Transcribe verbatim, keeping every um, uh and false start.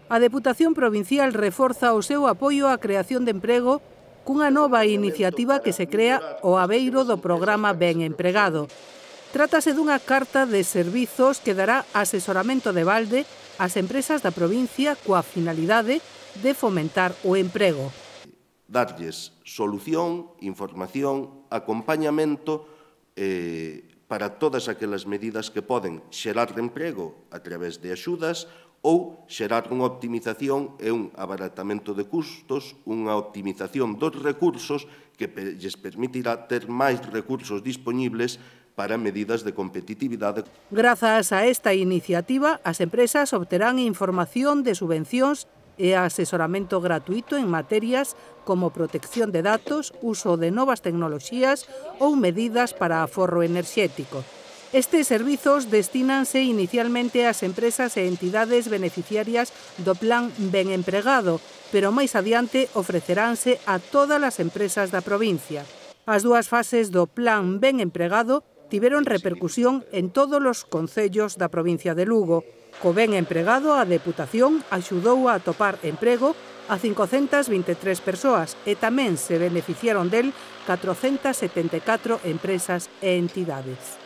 A Deputación Provincial reforza o seu apoio á creación de emprego cunha nova iniciativa que se crea o abeiro do programa Ben Empregado. Trátase dunha carta de servizos que dará asesoramento de balde ás empresas da provincia coa finalidade de fomentar o emprego. Darlles solución, información, acompañamento eh, para todas aquelas medidas que poden xerar emprego a través de axudas ou xerar unha optimización e un abaratamento de custos, unha optimización dos recursos que lles permitirá ter máis recursos dispoñibles para medidas de competitividade. Grazas a esta iniciativa, as empresas obterán información de subvencións e asesoramento gratuito en materias como protección de datos, uso de novas tecnoloxías ou medidas para aforro enerxético. Estes servizos destínanse inicialmente ás empresas e entidades beneficiarias do Plan Ben Empregado, pero máis adiante ofreceránse a todas as empresas da provincia. As dúas fases do Plan Ben Empregado tiveron repercusión en todos os concellos da provincia de Lugo. Co Ben Empregado, a Deputación axudou a atopar emprego a cincocentas vinte e tres persoas e tamén se beneficiaron del catrocentas setenta e catro empresas e entidades.